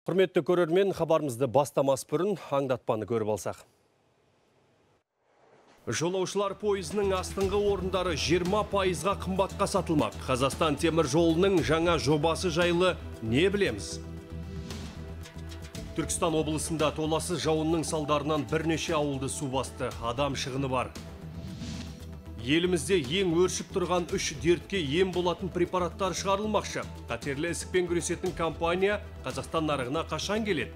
Құрметті көрермен, хабарымызды бастамас бұрын аңдатпаны көріп алсақ. Жолаушылар пойызының астыңғы орындары 20%-ға қымбатқа сатылмақ. Қазақстан темір жолының жаңа жобасы жайлы не білеміз? Түркістан облысында толассыз жауынның салдарынан бірнеше ауылды су басты. Адам шығыны бар. Елімізде ең өршіп тұрған 3 дертке ем болатын препараттар шығарылмақшы. Қатерлі ісікпен күресетін компания Қазақстан нарығына қашан келеді?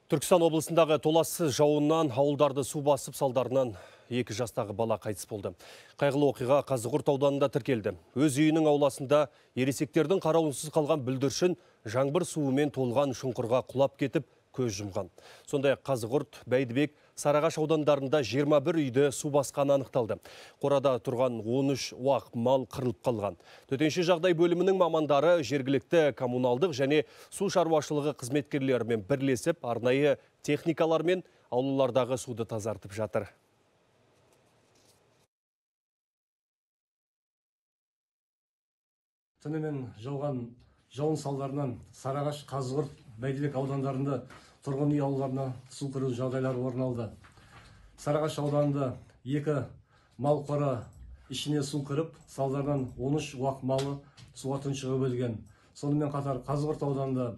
Түркістан облысындағы толассыз жауыннан ауылдарды су басып салдарынан 2 жастағы бала қайтыс болды. Қайғылы оқиға Қазығұрт ауданында тіркелді. Өз үйінің ауласында ересектердің қарауынсыз қалған бүлдіршін жаңбыр суымен толған шұңқырға құлап кетіп көз жұмған. Сондай Қазығұрт, Бәйдібек, Сарыағаш аудандарында 21 үйді су басқаны анықталды. Қорада тұрған 13 уақ мал қырылып қалған. Төтенше жағдай бөлімінің мамандары жергілікті коммуналдық және су шаруашылығы қызметкерлерімен бірлесіп, арнайы техникалармен аулалардағы суды тазартып жатыр. Түнімен жауған жауын салдарынан Сарыағаш, Қазығұрт, Бәйдібек аудандарында тұрғын үй аулаларына су кіру жағдайлары орын алды. Сарыағаш ауданында 2 мал қора ішіне су кіріп, салдарынан 13 уақ малы суға тұншығып өлген. Сонымен қатар Қазығұрт ауданында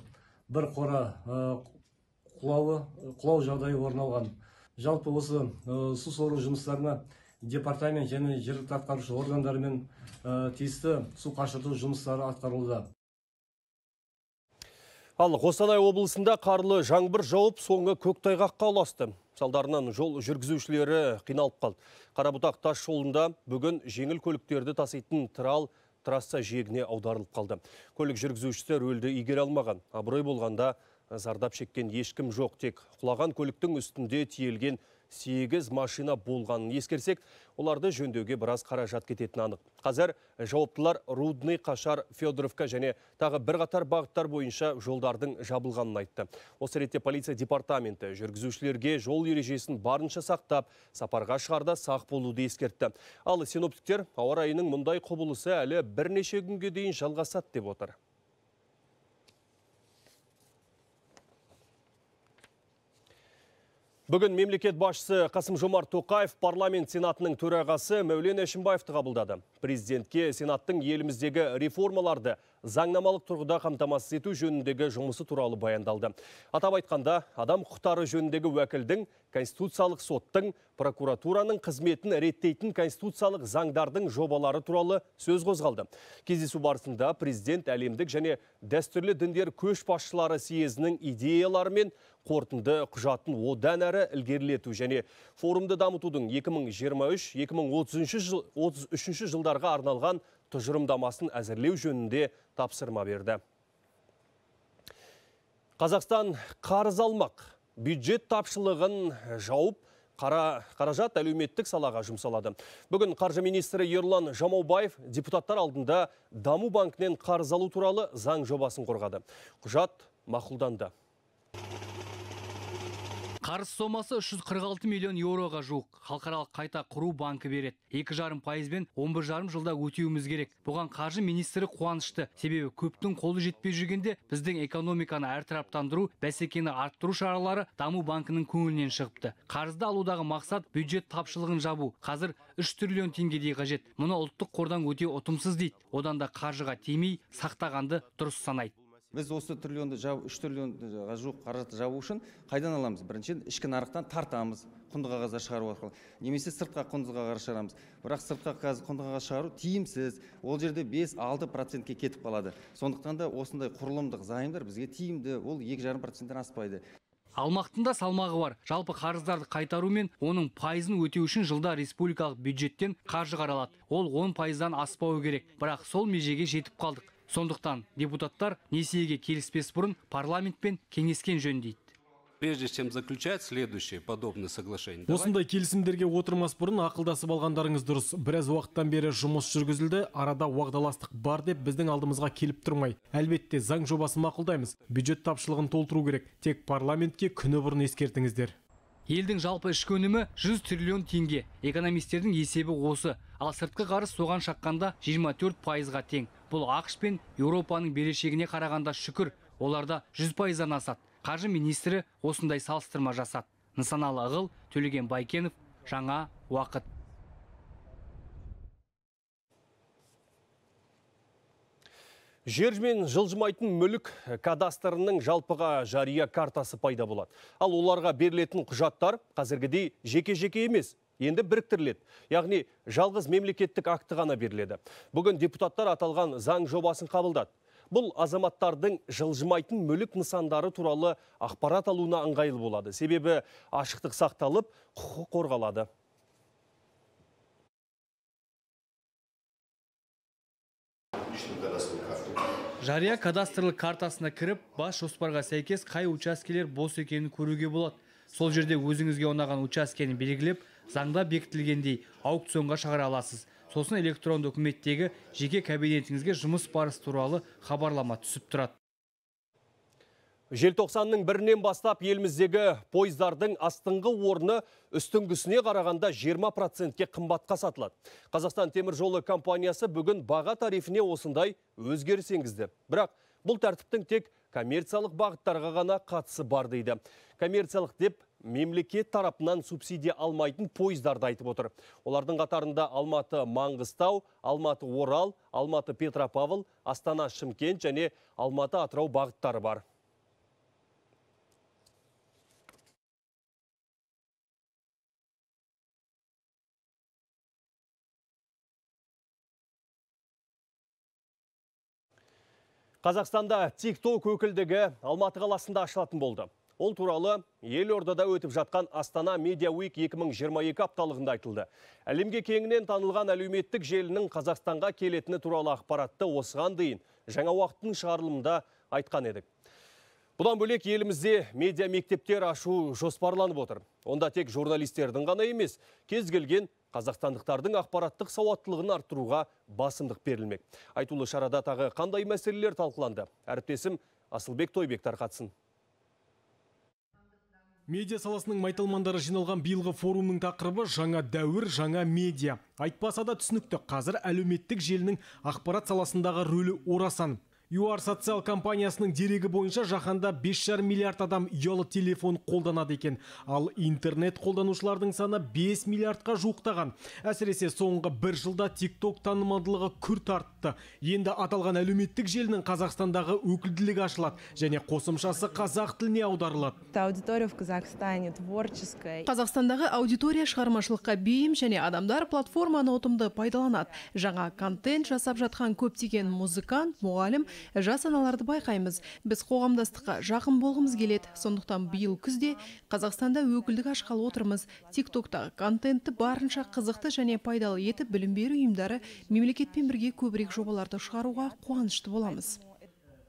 1 қора құлау жағдайы орын алған. Жалпы осы су сору жұмыстарына департамент және жергілікті атқарушы органдарымен тиісті су қашырту жұмыстары атқарылуда. Ал Қостанай облысында қарлы жаңбыр жауып, соңы көктайғаққа ұласты. Салдарынан жол жүргізушілері қиналып қалды. Қарабұтақ тас жолында бүгін жеңіл көліктерді таситын трасса жиегіне аударылып қалды. Көлік жүргізушісі рөлді игере алмаған. Абырой болғанда зардап шеккен ешкім жоқ, тек құлаған көліктің үстінде тиелген 8 машина болғанын ескерсек, оларды жөндеуге біраз қаражат кететіні анық. Қазір жауаптылар Рудный, Қашар, Федоровка және тағы бірқатар бағыттар бойынша жолдардың жабылғанын айтты. Осы ретте полиция департаменті жүргізушілерге жол ережесін барынша сақтап, сапарға шығарда сақ болуды ескертті. Ал синоптиктер ауа райының мұндай құбылысы әлі бірнеше күнге дейін жалғасады деп отыр. Бүгін мемлекет басшысы Қасым-Жомарт Тоқаев парламент сенатының төрағасы Мәулен Әшімбаевты қабылдады. Президентке сенаттың еліміздегі реформаларды заңнамалық тұрғыда қамтамасыз ету жөніндегі жұмысы туралы баяндалды. Атап айтқанда, адам құқықтары жөніндегі уәкілдің, Конституциялық соттың, прокуратураның қызметін реттейтін конституциялық заңдардың жобалары туралы сөз қозғалды. Кездесу барысында президент әлемдік және дәстүрлі діндер көшбасшылары съезінің идеялары мен қорытынды құжатын одан әрі ілгерілету және форумды дамытудың 2023-2033 жылдарға арналған тұжырымдамасын әзірлеу жөнінде тапсырма берді. Қазақстан қарыз алмақ. Бюджет тапшылығын жауып, қаражат әлеуметтік салаға жұмсалады. Бүгін қаржы министрі Ерлан Жамаубаев депутаттар алдында Даму банкінен қарыз алу туралы заң жобасын қорғады. Құжат мақұлданды. Қарыз сомасы 346 миллион еуроға жуық. Халықаралық қайта құру банкі береді. 2,5%-бен 11,5 жылда өтеуіміз керек. Бұған қаржы министрі қуанышты. Себебі көптің қолы жетпей жүргенде біздің экономиканы әртараптандыру, бәсекені арттыру шаралары Даму банкінің көңілінен шығыпты. Қарызды алудағы мақсат бюджет тапшылығын жабу. Қазір 3 триллион теңгедей қажет. Мұны ұлттық қордан өте ұтымсыз дейді. Одан да қаржыға тимей, сақтағанды дұрыс санайды. Біз осы 3 триллионға жуық қаражатты жабу үшін қайдан аламыз? Біріншіден ішкі нарықтан тартамыз, құнды қағаздар шығару арқылы. Немесе сыртқа құнды қағаз шығарамыз. Бірақ сыртқа құнды қағаз шығару тиімсіз. Ол жерде 5-6%-ке кетіп қалады. Сондықтан да осындай құрылымдық займдар бізге тиімді, ол 2,5%-тен аспайды. Алмақтында салмағы бар. Жалпы қарыздарды қайтару мен оның пайызын өтеу үшін жылда республикалық бюджеттен қаржы қаралады. Ол 10%-дан аспауы керек. Бірақ сол межеге жетіп қалдық. Сондықтан депутаттар несиеге келіспес бұрын парламентпен кеңескен жөн дейді. Прежде чем заключать следующие подобные соглашения. Осындай келісімдерге отырмас бұрын ақылдасып алғандарыңыз дұрыс. Біраз уақыттан бері жұмыс жүргізілді, арада уағдаластық бар деп біздің алдымызға келіп тұрмай. Әлбетте заң жобасын мақұлдаймыз. Бюджет тапшылығын толтыру керек. Тек парламентке күні бұрын ескертіңіздер. Елдің жалпы ішкі өнімі 100 триллион теңге. Экономистердің есебі осы. Ал сыртқы қарыз соған шаққанда 24%-ға тең. Бұл ақш пен Еуропаның берешегіне қарағанда шүкір, оларда 100%-дан асады. Қаржы министрі осындай салыстырма жасады. Нысаналы Ағыл, Төлеген Байкенов, Жаңа уақыт. Жермен жылжымайтын мүлік кадастрының жалпыға жария картасы пайда болады. Ал оларға берілетін құжаттар қазіргідей жеке-жеке емес, енді біріктіріледі. Яғни жалғыз мемлекеттік акті ғана беріледі. Бүгін депутаттар аталған заң жобасын қабылдады. Бұл азаматтардың жылжымайтын мүлік нысандары туралы ақпарат алуына ыңғайлы болады. Себебі ашықтық сақталып, құқық қорғалады. Жария кадастрлық картасына кіріп, бас жоспарға сәйкес қай учаскелер бос екенін көруге болады. Сол жерде өзіңізге ұнаған учаскені белгілеп, заңда бекітілгендей аукционға шығара аласыз. Сосын электронды үкіметтегі жеке кабинетіңізге жұмыс барысы туралы хабарлама түсіп тұрады. Желтоқсанның 1-нен бастап еліміздегі пойыздардың астыңғы орны үстіңгісіне қарағанда 20%-ке қымбатқа сатылады. Қазақстан темір жолы компаниясы бүгін баға тарифіне осындай өзгеріс енгізді. Бірақ бұл тәртіптің тек коммерциялық бағыттарға ғана қатысы бар дейді. Коммерциялық деп мемлекет тарапынан субсидия алмайтын пойыздарды айтып отыр. Олардың қатарында Алматы Маңғыстау, Алматы Орал, Алматы Петропавл, Астана Шымкент және Алматы Атырау бағыттары бар. Қазақстанда TikTok өкілдігі Алматы қаласында ашылатын болды. Ол туралы Елордада өтіп жатқан Астана Media Week 2022 апталығында айтылды. Әлемге кеңінен танылған әлеуметтік желінің Қазақстанға келетіні туралы ақпаратты осыған дейін жаңа уақыттың шығарылымында айтқан едік. Бұдан бөлек елімізде медиа мектептер ашу жоспарланып отыр. Онда тек журналистердің ғана емес, кез келген қазақстандықтардың ақпараттық сауаттылығын арттыруға басымдық берілмек. Айтулы шарада тағы қандай мәселелер талқыланды? Әріптесім Асылбек Тойбек тарқатсын. Медиа саласының майталмандары жиналған биылғы форумның тақырыбы жаңа дәуір, жаңа медиа. Айтпаса да түсінікті, қазір әлеуметтік желінің ақпарат саласындағы рөлі орасан. ЮАР социал компаниясының дерегі бойынша жаһанда 5,5 миллиард адам ұялы телефон қолданады екен. Ал интернет қолданушылардың саны 5 миллиардқа жуықтаған. Әсіресе соңғы бір жылда TikTok танымалдылығы күрт артты. Енді аталған әлеуметтік желінің Қазақстандағы өкілділігі ашылады және қосымшасы қазақ тіліне аударылады. Аудитория в Казахстане творческая. Қазақстандағы аудитория шығармашылыққа бейім және адамдар платформаны ұтымды пайдаланады. Жаңа контент жасап жатқан көптеген музыкант, мұғалім, жас аналарды байқаймыз. Біз қоғамдастыққа жақын болғымыз келеді. Сондықтан биыл күзде Қазақстанда өкілдік ашқалы отырмыз. TikTok'тағы контентті барынша қызықты және пайдалы етіп, білім беру ұйымдары мемлекетпен бірге көбірек жобаларды шығаруға қуанышты боламыз.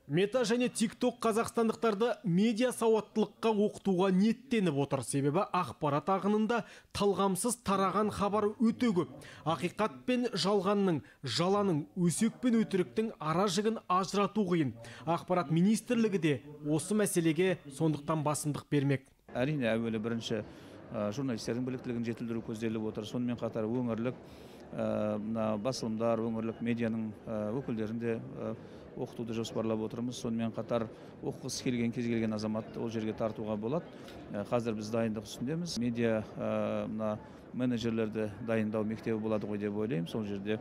Мета және TikTok қазақстандықтарды медиа сауаттылыққа оқытуға ниеттеніп отыр. Себебі ақпарат ағынында талғамсыз тараған хабар өте көп. Ақиқат пен жалғанның, жаланың, өсек пен өтіріктің ара жігін ажырату қиын. Ақпарат министрлігі де осы мәселеге сондықтан басымдық бермек. Әрине, әуелі бірінші журналистердің біліктілігін жетілдіру көзделіп отыр. Сонымен қатар өңірлік басылымдар, өңірлік медианың өкілдерінде оқытуды жоспарлап отырмыз. Сонымен қатар оқығысы келген кез келген азамат ол жерге тартуға болады. Қазір біз дайындық үстіндеміз. Медиа менеджерлерді дайындау мектебі болады ғой деп ойлаймын. Сол жерде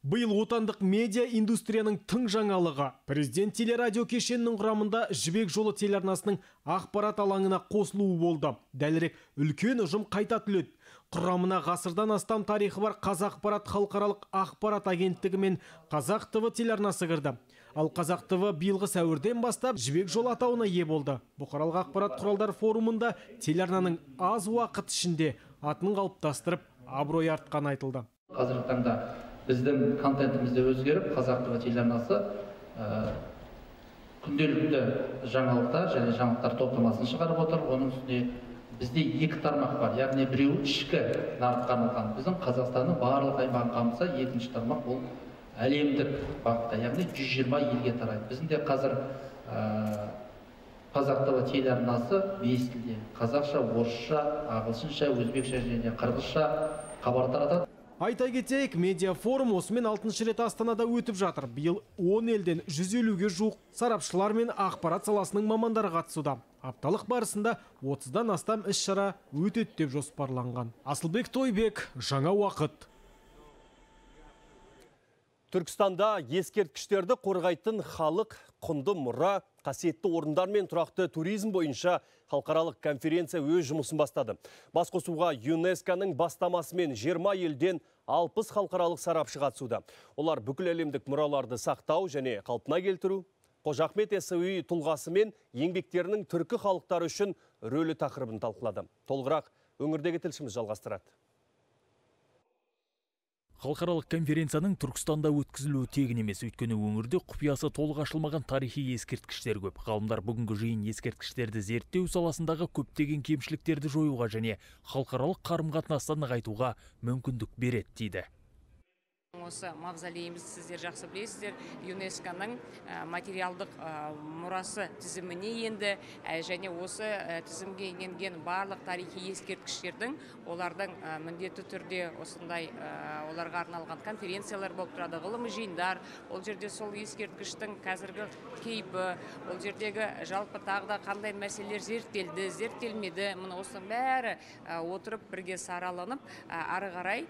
Биыл отандық медиа индустрияның тың жаңалығы. Президент телерадио кешенінің құрамында Жібек жолы телеарнасының ақпарат алаңына қосылуы болды. Дәлірек, үлкен ұжым қайта түледі. Құрамына ғасырдан астам тарихы бар Қазақпарат халықаралық ақпарат агенттігі мен Қазақ ТВ телеарнасы кірді. Ал Қазақ ТВ биылғы сәуірден бастап Жібек жолы атауына ие болды. Бұқаралық ақпарат құралдар форумында телеарнаның аз уақыт ішінде атын қалыптастырып, абырой артқаны айтылды. Қазіргі таңда біздің контентімізде өзгеріп, Қазақ ТВ телеарнасы күнделікті жаңалықтар және жаңалықтар топтамасын шығарып отыр. Оның үстіне бізде екі тармақ бар, яғни біреуі ішкі нарыққа арналған. Біздің Қазақстанның барлық аймағын қамтыса, екінші тармақ ол әлемдік бағытта, яғни 120 елге тарайды. Біздің де қазір Қазақ ТВ телеарнасы 5 тілде қазақша, орысша, ағылшынша, өзбекше және қырғызша хабар таратады. Айта кетейік, медиа форум осымен 6-шы рет Астанада өтіп жатыр. Биыл 10 елден 150-ге жуық сарапшылар мен ақпарат саласының мамандары қатысуда. Апталық барысында 30-дан астам іс-шара өтеді деп жоспарланған. Асылбек Тойбек, жаңа уақыт. Түркістанда ескерткіштерді қорғайтын халық, құнды мұра, қасиетті орындар мен тұрақты туризм бойынша халықаралық конференция өз жұмысын бастады. Басқосуға ЮНЕСКО-ның бастамасымен 20 елден 60 халықаралық сарапшы қатысуда. Олар бүкіл әлемдік мұраларды сақтау және қалпына келтіру, Қожа Ахмет Яссауи тұлғасы мен еңбектерінің түркі халықтары үшін рөлі тақырыбын талқылады. Толығырақ өңірдегі тілшіміз жалғастырады. Халықаралық конференцияның Түркістанда өткізілуі тегін емес, өйткені өңірде құпиясы толық ашылмаған тарихи ескерткіштер көп. Ғалымдар бүгінгі жиын ескерткіштерді зерттеу саласындағы көптеген кемшіліктерді жоюға және халықаралық қарым-қатынасты нығайтуға мүмкіндік береді дейді. Осы мавзолейіміз сіздер жақсы білесіздер, ЮНЕСКО-ның материалдық мұрасы тізіміне енді және осы тізімге енген барлық тарихи ескерткіштердің олардың міндетті түрде осындай оларға арналған конференциялар болып тұрады, ғылыми жиындар, ол жерде сол ескерткіштің қазіргі кейпі, ол жердегі жалпы тағда қандай мәселелер зерттелді, зерттелмеді, мұны осының бәрі отырып бірге сараланып, ары қарай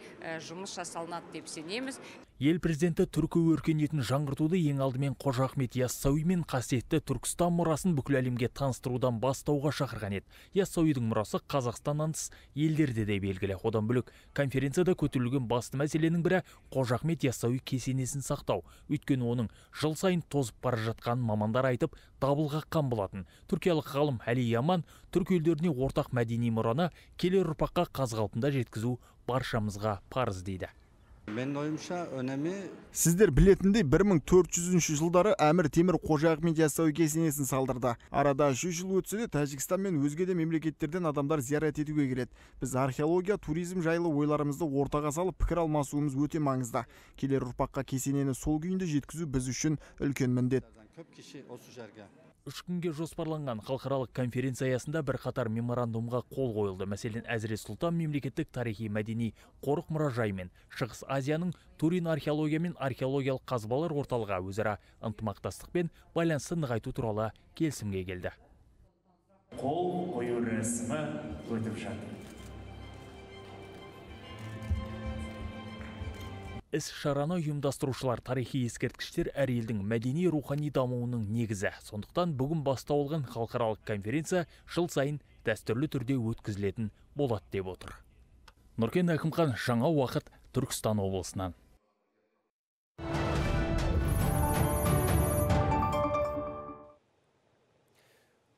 жұмыс жасалынады деп сенеміз. Ел президенті түркі өркениетін жаңғыртуды ең алдымен Қожа Ахмет Яссауи мен қасиетті Түркістан мұрасын бүкіл әлемге таныстырудан бастауға шақырған еді. Яссауидің мұрасы Қазақстаннан тыс елдерде де белгілі. Одан бөлек конференцияда көтерілген басты мәселенің бірі Қожа Ахмет Яссауи кесенесін сақтау. Өйткені оның жыл сайын тозып бара жатқанын мамандар айтып, дабыл қаққан болатын. Түркиялық ғалым Әли Яман түркі елдеріне ортақ мәдени мұраны келер ұрпаққа қаз қалпында жеткізу баршамызға парыз дейді. Менің ойымша өнемі... Сіздер білетіндей 1400 жылдары Әмір Темір Қожа Ахмет Яссауи кесенесін салдырды. Арада 100 жыл өтсе де Тәжікстан мен өзге де мемлекеттерден адамдар зиярат етуге келеді. Біз археология, туризм жайлы ойларымызды ортаға салып пікір алмасуымыз өте маңызды. Келер ұрпаққа кесенені сол күйінде жеткізу біз үшін үлкен міндет. Көп кіші осы жерге. 3 күнге жоспарланған халықаралық конференция аясында бірқатар меморандумға қол қойылды. Мәселен, Әзірет Сұлтан мемлекеттік тарихи мәдени қорық мұражайы мен Шығыс Азияның Турин археология мен археологиялық қазбалар орталығы өзара ынтымақтастық пен байланысты нығайту туралы келісімге келді. Қол қою рәсімі өтіп жатыр. Іс-шараны ұйымдастырушылар тарихи ескерткіштер әр елдің мәдени рухани дамуының негізі. Сондықтан бүгін басталған халықаралық конференция жыл сайын дәстүрлі түрде өткізілетін болады деп отыр. Нұркен Әкімхан, жаңа уақыт, Түркістан облысынан.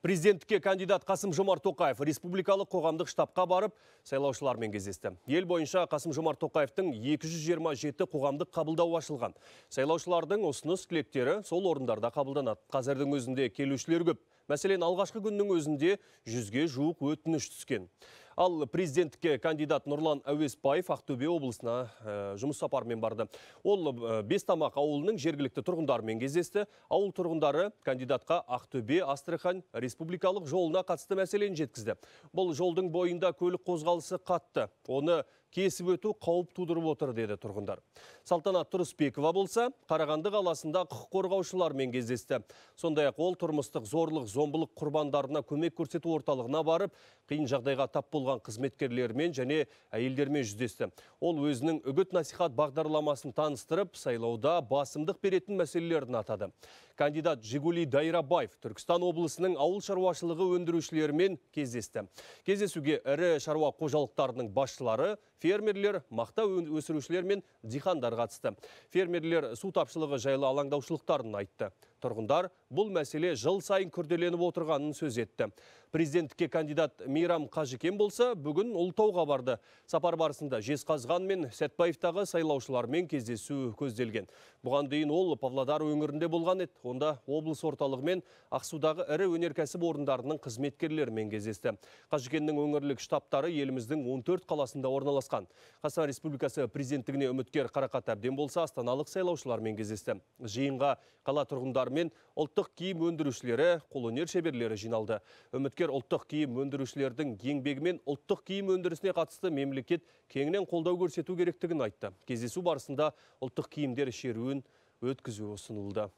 Президенттікке кандидат Қасым-Жомарт Тоқаев республикалық қоғамдық штабқа барып, сайлаушылармен кездесті. Ел бойынша Қасым-Жомарт Тоқаевтың 227 қоғамдық қабылдау ашылған. Сайлаушылардың ұсыныс тілектері сол орындарда қабылданады. Қазірдің өзінде келушілер көп. Мәселен, алғашқы күннің өзінде 100-ге жуық өтініш түскен. Ал президенттікке кандидат Нұрлан Әуесбаев Ақтөбе облысына жұмыс сапарымен барды. Ол Бестамақ ауылының жергілікті тұрғындарымен кездесті. Ауыл тұрғындары кандидатқа Ақтөбе Астрахань республикалық жолына қатысты мәселені жеткізді. Бұл жолдың бойында көлік қозғалысы қатты. Оны кесіп өту қауіп тудырып отыр деді тұрғындар. Салтанат Тұрысбекова болса, Қарағанды қаласында құқық қорғаушылармен кездесті. Сондай-ақ ол тұрмыстық зорлық, зомбылық құрбандарына көмек көрсету орталығына барып, қиын жағдайға тап болған қызметкерлермен және әйелдермен жүздесті. Ол өзінің үгіт-насихат бағдарламасын таныстырып, сайлауда басымдық беретін мәселелерін атады. Кандидат Жигули Дайрабаев Түркістан облысының ауыл шаруашылығы өндірушілерімен кездесті. Кездесуге ірі шаруа қожалықтарының басшылары, фермерлер, мақта өсірушілер мен диқандар қатысты. Фермерлер су тапшылығы жайлы алаңдаушылықтарын айтты. Тұрғындар бұл мәселе жыл сайын күрделеніп отырғанын сөз етті. Президенттікке кандидат Мейрам Қажыкен болса, бүгін Ұлытауға барды. Сапар барысында Жезқазған мен Сәтпаевтағы сайлаушылармен кездесу көзделген. Бұған дейін ол Павлодар өңірінде болған еді. Онда облыс орталығы мен Ақсудағы ірі өнеркәсіп орындарының қызметкерлерімен кездесті. Қажыкеннің өңірлік штабтары еліміздің 14 қаласында орналасқан. Қазақстан Республикасы президенттігіне үміткер Қарақат Әбден болса, астаналық сайлаушылармен кездесті. Жиынға қала тұрғындары мен ұлттық киім өндірушілері, қолөнер шеберлері жиналды. Үміткер ұлттық киім өндірушілердің еңбегімен ұлттық киім өндірісіне қатысты мемлекет кеңінен қолдау көрсету керектігін айтты. Кездесу барысында ұлттық киімдер шеруін өткізу ұсынылды.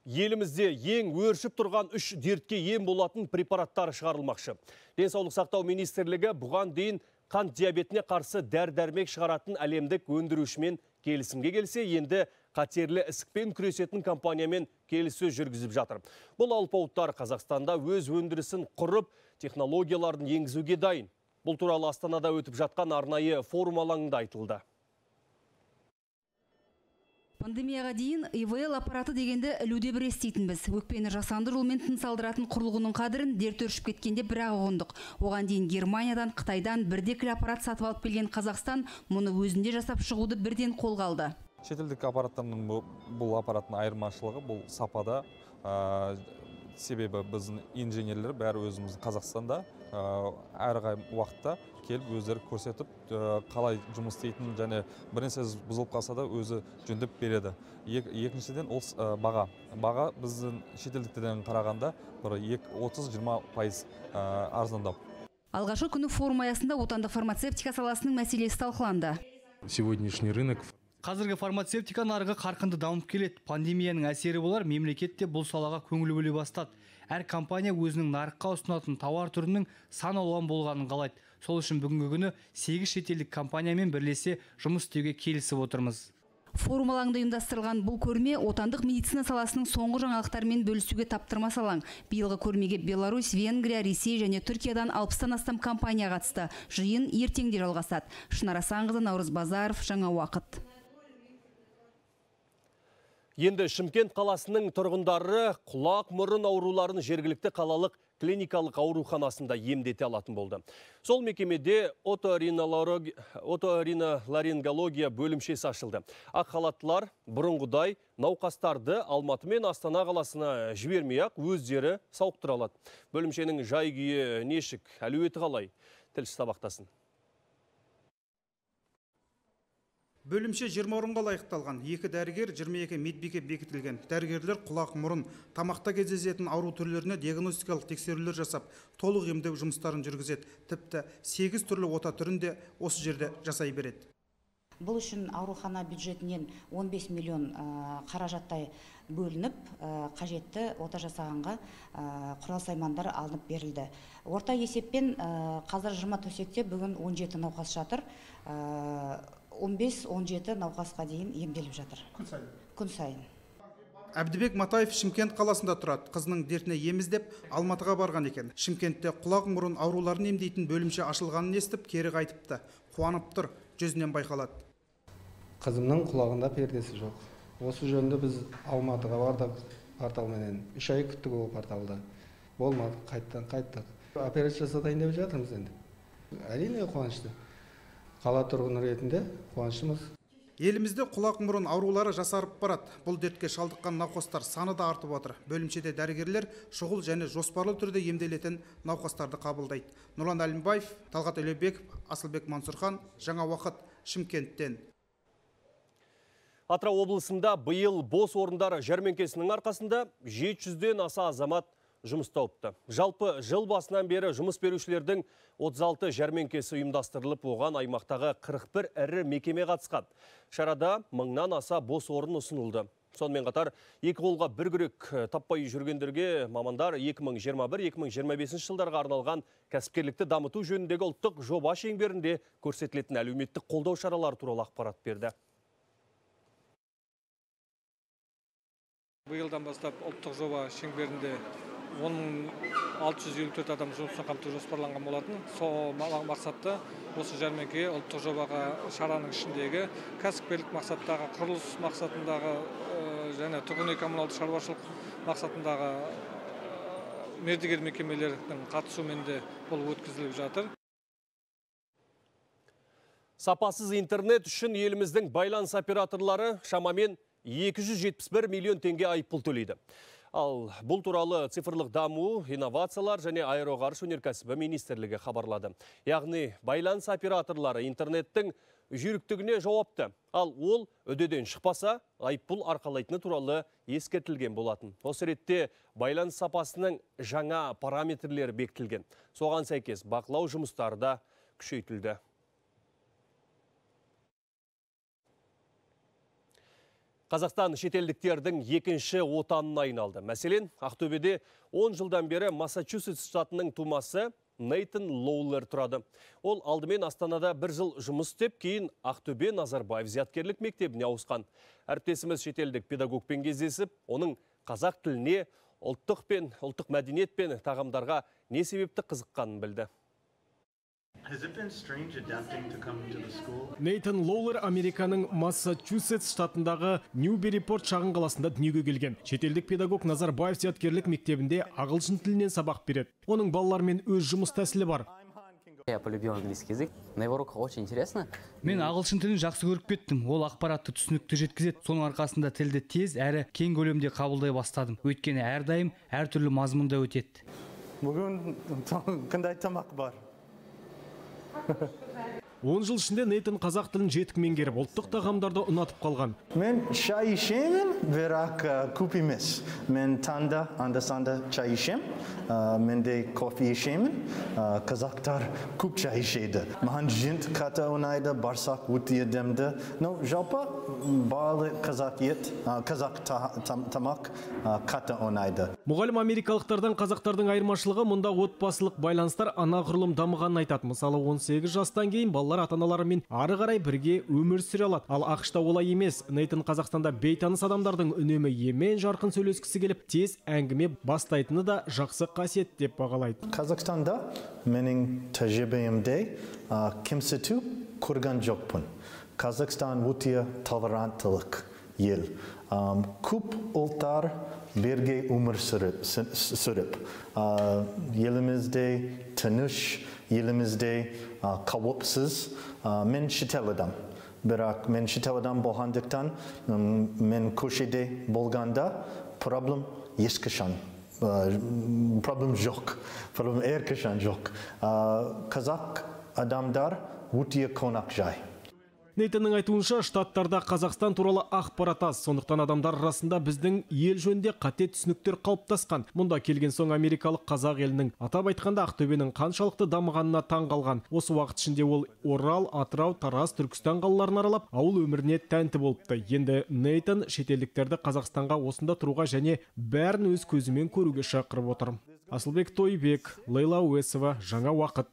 Елімізде ең өршіп тұрған 3 дертке ем болатын препараттар шығарылмақшы. Денсаулық сақтау министрлігі бұған дейін қант диабетіне қарсы дәрі-дәрмек шығаратын әлемдік өндірушімен келісімге келсе, енді қатерлі ісікпен күресетін компаниямен келіссөз жүргізіп жатыр. Бұл алпауыттар Қазақстанда өз өндірісін құрып, технологияларын енгізуге дайын. Бұл туралы Астанада өтіп жатқан арнайы форум алаңында айтылды. Пандемияға дейін ИВЛ аппараты дегенді ілуде бір естейтінбіз. Өкпені жасанды жолмен тыныс алдыратын құрылғының қадірін дерт өршіп кеткенде бір-ақ ұғындық. Оған дейін Германиядан, Қытайдан бірдекіл аппарат сатып алып келген Қазақстан мұны өзінде жасап шығуды бірден қолға алды. Шетелдік аппараттардың бұл аппараттың айырмашылығы бұл сапада. Себебі біздің инженерлер бәрі өзіміз Қазақстанда әрі уақытта келіп өздері көрсетіп, қалай жұмыс істейтін және бірнәрсе бұзылып қалса да өзі жөндеп береді. Екіншіден ол баға. Баға біздің шетелдіктерден қарағанда 30-20% арзандау. Алғашқы күні форум аясында отандық фармацевтика саласының мәселесі талқыланды. Сегодняшний рынок. Қазіргі фармацевтика нарығы қарқынды дамып келеді. Пандемияның әсері болар, мемлекетте бұл салаға көңіл бөле бастады. Әр компания өзінің нарыққа ұсынатын тауар түрінің сан алуан болғанын қалайды. Сол үшін бүгінгі күні 8 шетелдік компаниямен бірлесе жұмыс істеуге келісіп отырмыз. Форум алаңында ұйымдастырылған бұл көрме отандық медицина саласының соңғы жаңалықтармен бөлісуге таптырмас алаң. Биылғы көрмеге Беларусь, Венгрия, Ресей және Түркиядан 60-тан астам компания қатысты. Жиын ертеңде жалғасады. Шынар Асанқызы, Наурыз Базаров, Жаңа уақыт. Енді Шымкент қаласының тұрғындары құлақ мұрын ауруларын жергілікті қалалық клиникалық ауруханасында емдете алатын болды. Сол мекемеде оториноларингология бөлімшесі ашылды. Ақ халаттылар бұрынғыдай науқастарды Алматы мен Астана қаласына жібермей-ақ өздері сауықтыра алады. Бөлімшенің жай-күйі нешік, әлеуеті қалай? Тілші сабақтасын. Бөлімше 20 орынға лайықталған. 2 дәрігер, 22 медбике бекітілген. Дәрігерлер құлақ мұрын, тамақта кездесетін ауру түрлеріне диагностикалық тексерулер жасап, толық емдеу жұмыстарын жүргізеді. Тіпті 8 түрлі ота түрін де осы жерде жасай береді. Бұл үшін аурухана бюджетінен 15 миллион қаражаттай бөлініп, қажетті ота жасағанға құрал-саймандар алынып берілді. Орта есеппен қазір 20 төсекте бүгін 17 науқас жатыр. 15-17 науқасқа дейін емделіп жатыр. Күн сайын. Әбдібек Матаев Шымкент қаласында тұрады. Қызының дертіне ем іздеп Алматыға барған екен. Шымкентте құлақ мұрын ауруларын емдейтін бөлімше ашылғанын естіп, кері қайтыпты. Қуанып тұр, жүзінен байқалады. Қызымның құлағында пердесі жоқ. Осы жөнінде біз Алматыға бардық, порталменен 3 ай күттік ол порталда. Болмады, қайттық. Операция жасатайын деп жатырмыз енді. Әрине қуанышты. Қала тұрғыны ретінде қуаныштымыз. Елімізде құлақ мұрын аурулары жасарып барады. Бұл дертке шалдыққан науқастар саны да артып отыр. Бөлімшеде дәрігерлер шұғыл және жоспарлы түрде емделетін науқастарды қабылдайды. Нұрлан Әлімбаев, Талғат Өлебеков, Асылбек Мансұрхан, Жаңа уақыт, Шымкенттен. Атырау облысында биыл бос орындар жәрмеңкесінің арқасында 700-ден аса азамат жұмыс тауыпты. Жалпы жыл басынан бері жұмыс берушілердің 36 жәрмеңкесі ұйымдастырылып, оған аймақтағы 41 ірі мекеме қатысқан. Шарада 1000-нан аса бос орын ұсынылды. Сонымен қатар, екі қолға бір күрек таппай жүргендерге мамандар 2021-2025 жылдарға арналған кәсіпкерлікті дамыту жөніндегі ұлттық жоба шеңберінде көрсетілетін әлеуметтік қолдау шаралары туралы ақпарат берді. Биылдан бастап ұлттық жоба шеңберінде 10.654 адам жұмыспен қамту жоспарланған болатын. Сол мақсатта осы жәрмеңке ұлттық жобаға шараның ішіндегі кәсіпкерлік мақсаттағы, құрылыс мақсатындағы және тұрғын үй коммуналдық шаруашылық мақсатындағы мердігер мекемелердің қатысуымен де бұл өткізіліп жатыр. Сапасыз интернет үшін еліміздің байланыс операторлары шамамен 271 миллион теңге айыппұл төлейді. Ал бұл туралы цифрлық даму, инновациялар және аэроғарыш өнеркәсібі министрлігі хабарлады. Яғни байланыс операторлары интернеттің жүйріктігіне жауапты. Ал ол өдеден шықпаса, айыппұл арқалайтыны туралы ескертілген болатын. Осы ретте байланыс сапасының жаңа параметрлері бекітілген. Соған сәйкес бақылау жұмыстары да күшейтілді. Қазақстан шетелдіктердің екінші отанына айналды. Мәселен, Ақтөбеде 10 жылдан бері Массачусетс штатының тумасы Нейтан Лоулер тұрады. Ол алдымен Астанада 1 жыл жұмыс істеп, кейін Ақтөбе Назарбаев зияткерлік мектебіне ауысқан. Әріптесіміз шетелдік педагогпен кездесіп, оның қазақ тіліне, ұлттық мәдениет пен тағамдарға не себепті қызыққанын білді. Нейтан Лоулер Американың Массачусетс штатындағы Ньюберрипорт шағын қаласында дүниеге келген. Шетелдік педагог Назарбаев зияткерлік мектебінде ағылшын тілінен сабақ береді. Оның балалармен өз жұмыс тәсілі бар. Я полюбил английский язык. На его уроках очень интересно. Мен ағылшын тілін жақсы көріп кеттім. Ол ақпаратты түсінікті жеткізеді. Соның арқасында тілді тез әрі кең көлемде қабылдай бастадым. Өйткені әрдайым әртүрлі мазмұнда өтеді. Бүгін қандай тамақ бар? 10 жыл ішінде Нейтан қазақ тілін жетік меңгеріп, ұлттық тағамдарды ұнатып қалған. Мен шай ішемін, бірақ көп емес. Мен таңда анда-санда шай ішем, менде кофе ішемін. Қазақтар көп шай ішеді. Маған жент қатты ұнайды, барсақ өте демді. Жалпы барлық қазақ тамақ қатты ұнайды. Мұғалім америкалықтардан қазақтардың айырмашылығы мұнда отбасылық байланыстар анағұрлым дамығанын айтады. Мысалы 18 жастан кейін балалар ата-аналарымен ары қарай бірге өмір сүре алады. Ал ақшта олай емес. Нейтан Қазақстанда бейтаныс адамдардың үнемі емен жарқын сөйлескісі келіп, тез әңгіме бастайтыны да жақсы қасиет деп бағалайды. Қазақстанда менің тәжірибемде кемсіту көрген жоқпын. Қазақстан өте толеранттылық ел. Көп ұлттар бірге өмір сүріп, елімізде тыныш, елімізде қауіпсіз. Мен шетел адам. Бірақ мен шетел адам болғандықтан, мен көшеде болғанда проблем ешқашан. Проблем жоқ. Проблем әрқашан жоқ. Қазақ адамдар өте қонақжай. Нейтанның айтуынша, штаттарда Қазақстан туралы ақпарат аз, сондықтан адамдар арасында біздің ел жөнінде қате түсініктер қалыптасқан. Мұнда келген соң америкалық қазақ елінің, атап айтқанда Ақтөбенің қаншалықты дамығанына таң қалған. Осы уақыт ішінде ол Орал, Атырау, Тараз, Түркістан қалаларын аралап, ауыл өміріне тәнті болыпты. Енді Нейтан шетелдіктерді Қазақстанға осында тұруға және бәрін өз көзімен көруге шақырып отыр. Асылбек Тойбек, Лейла Уесова, Жаңа уақыт.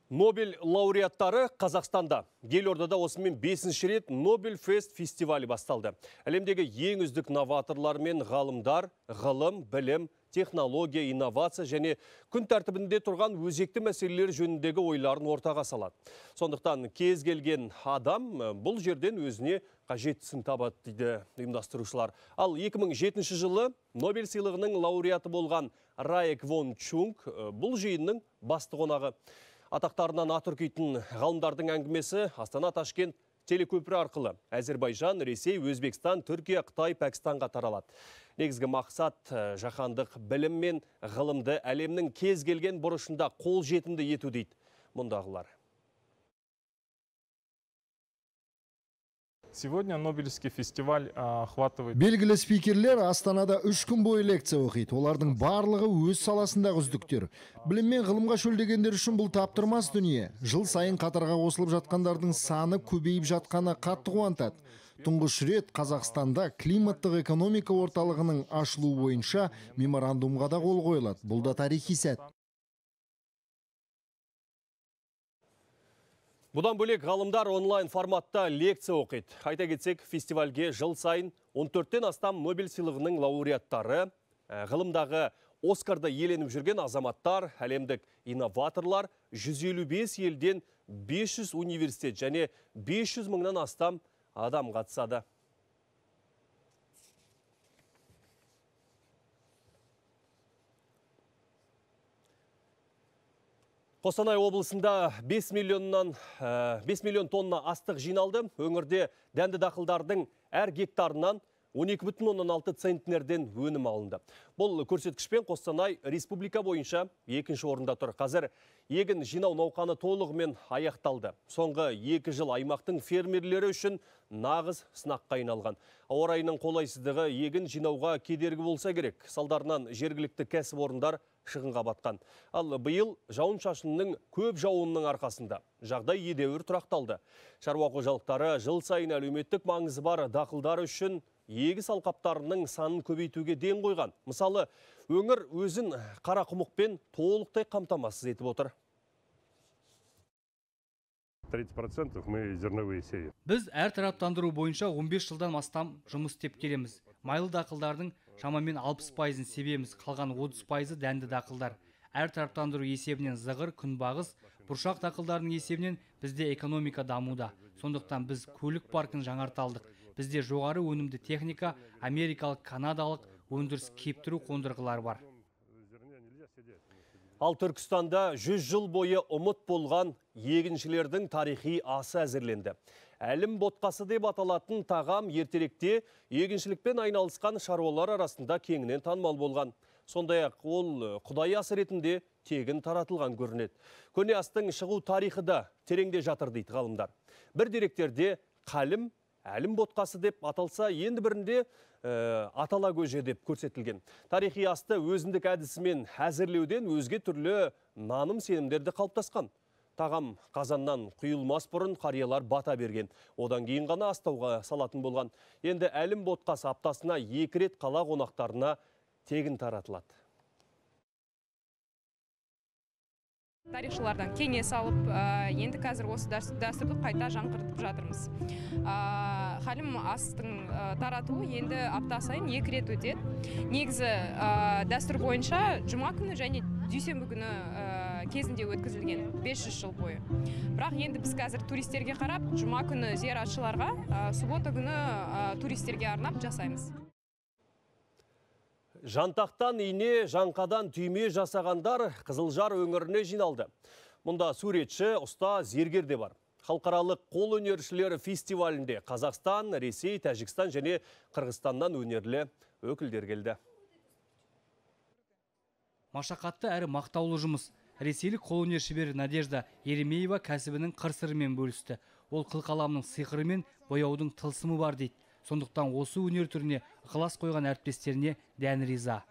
Нобель лауреаттары Қазақстанда. Елордада осымен 5-ші рет Нобель Фест фестивалі басталды. Әлемдегі ең үздік новаторлар мен ғалымдар, ғылым, білім, технология, инновация және күн тәртібінде тұрған өзекті мәселелер жөніндегі ойларын ортаға салады. Сондықтан кез келген адам бұл жерден өзіне қажеттісін табады дейді ұйымдастырушылар. Ал 2007 жылы Нобель сыйлығының лауреаты болған Рай Квон Чунг бұл жиынның басты қонағы. Атақтарынан атүркейтін ғалымдардың әңгімесі Астана-Ташкент телекөпірі арқылы Әзербайжан, Ресей, Өзбекстан, Түркия, Қытай, Пәкістанға таралады. Негізгі мақсат жаһандық білім мен ғылымды әлемнің кез келген бұрышында қол жетімді ету дейді мұндағылар. Сегодня Нобелевский фестиваль охватывает... Белгілі спикерлер Астанада 3 күн бойы лекция оқиды. Олардың барлығы өз саласындағы үздіктер. Білім мен ғылымға шөлдегендер үшін бұл таптырмас дүние. Жыл сайын қатарға қосылып жатқандардың саны көбейіп жатқаны қатты қуантады. Тұңғыш рет Қазақстанда климаттық экономика орталығының ашылуы бойынша меморандумға да қол қойылады. Бұл да тарихи сәт. Бұдан бөлек ғалымдар онлайн форматта лекция оқиды. Айта кетсек, фестивальге жыл сайын 14-тен астам Нобель сыйлығының лауреаттары, ғылымдағы Оскарды еленіп жүрген азаматтар, әлемдік инноваторлар, 155 елден 500 университет және 500 мыңнан астам адам қатысады. Қостанай облысында 5 миллион тонна астық жиналды. Өңірде дәнді дақылдардың әр гектарынан 12,6 центнерден өнім алынды. Бұл көрсеткішпен Қостанай республика бойынша екінші орында тұр. Қазір егін жинау науқаны толығымен аяқталды. Соңғы 2 жыл аймақтың фермерлері үшін нағыз сынаққа айналған. Ауа райының қолайсыздығы егін жинауға кедергі болса керек. Салдарынан жергілікті кәсіпорындар шығынға батқан. Ал биыл жауын-шашынның көп жауынның арқасында жағдай едәуір тұрақталды. Шаруа қожалықтары жыл сайын әлеуметтік маңызы бар дақылдар үшін егіс алқаптарының санын көбейтуге ден қойған. Мысалы, өңір өзін қарақұмықпен толықтай қамтамасыз етіп отыр. 30% мы зерновые сеем. Біз әр тараптандыру бойынша 15 жылдан астам жұмыс істеп келеміз. Майлы дақылдардың шамамен 60%-ын себеміз, қалған 30%-ы дәнді дақылдар. Әр тараптандыру есебінен зығыр, күнбағыс, бұршақ дақылдарының есебінен бізде экономика дамуда. Сондықтан біз көлік паркін жаңарталдық. Бізде жоғары өнімді техника, америкалық, канадалық өндіріс кептіру қондырғылар бар. Ал Түркістанда 100 жыл бойы ұмыт болған егіншілердің тарихи асы әзірленді. Әлім ботқасы деп аталатын тағам ертеректе егіншілікпен айналысқан шаруалар арасында кеңінен танымал болған. Сондай-ақ ол құдай асы ретінде тегін таратылған көрінеді. Көне астың шығу тарихы да тереңде жатыр дейді ғалымдар. Бір деректерде қалім, әлім ботқасы деп аталса, енді бірінде атала көже деп көрсетілген. Тарихи асты өзіндік әдісімен әзірлеуден өзге түрлі наным сенімдерді қалыптасқан. Тағам қазаннан құйылмас бұрын қариялар бата берген. Одан кейін ғана астауға салатын болған. Енді әлім ботқасы аптасына 2 рет қала қонақтарына тегін таратылады. Тарихшылардан кеңес алып, енді қазір осы дәстүрді қайта жаңғыртып жатырмыз. Қалім астың таратуы енді апта сайын 2 рет өтеді. Негізі дәстүр бойынша жұма күні және дүйсенбі күні кезінде өткізілген 500 жыл бойы. Бірақ енді біз қазір туристерге қарап, жұма күні зияратшыларға, суббота күні туристерге арнап жасаймыз. Жантақтан ине, жаңқадан түйме жасағандар Қызылжар өңіріне жиналды. Мұнда суретші, ұста, зергер де бар. Халықаралық қол өнершілері фестивалінде Қазақстан, Ресей, Тәжікстан және Қырғызстаннан өнерлі өкілдер келді. Машақатты әрі мақтаулы жұмыс. Ресейлік қолөнер шебері Надежда Еремеева кәсібінің қыр-сырымен бөлісті. Ол қылқаламның сиқыры мен бояудың тылсымы бар дейді. Сондықтан осы өнер түріне ықылас қойған әріптестеріне дән риза.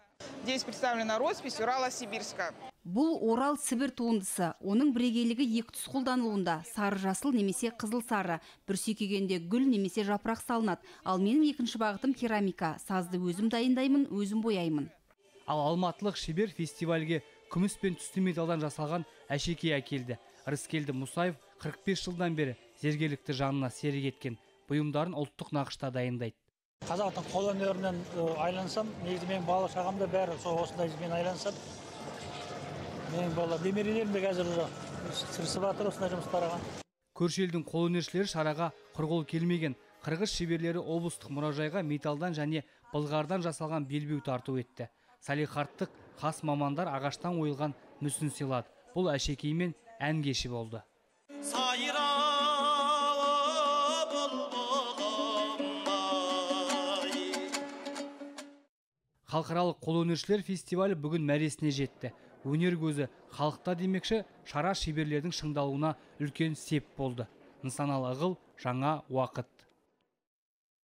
Здесь представлена роспись Урало-Сибирска. Бұл Орал-Сібір туындысы. Оның бірегейлігі екі түс қолданылуында. Сары жасыл немесе қызыл сары. Бір сүйкегенде гүл немесе жапырақ салынады. Ал менің екінші бағытым керамика. Сазды өзім дайындаймын, өзім бояймын. Ал алматылық шебер фестивальге күміс пен түсті металдан жасалған әшекей әкелді. Рыскелді Мұсаев 45 жылдан бері зергерлікті жанына серік еткен. Бұйымдарын ұлттық нақышта дайындайды. Қазақтың қол өнерінен айлансам, негізі менің бала шағамда бәрі осындай мен айлансам. Менің бала немерелерім де қазір тырысып жатыр осындай жұмыстарға. Көрші елдің қол өнершілері шараға құр келмеген. Қырғыз шеберлері облыстық мұражайға металдан және былғардан жасалған белбеу тарту етті. Салихардтық қас мамандар ағаштан ойылған мүсін сыйлады. Бұл әшекей мен ән кеші болды. Халықаралық қолөнершілер фестивалі бүгін мәресіне жетті. Өнер көзі халықта демекші, шара шеберлердің шыңдалуына үлкен сеп болды. Нысаналы ығыл, жаңа уақыт.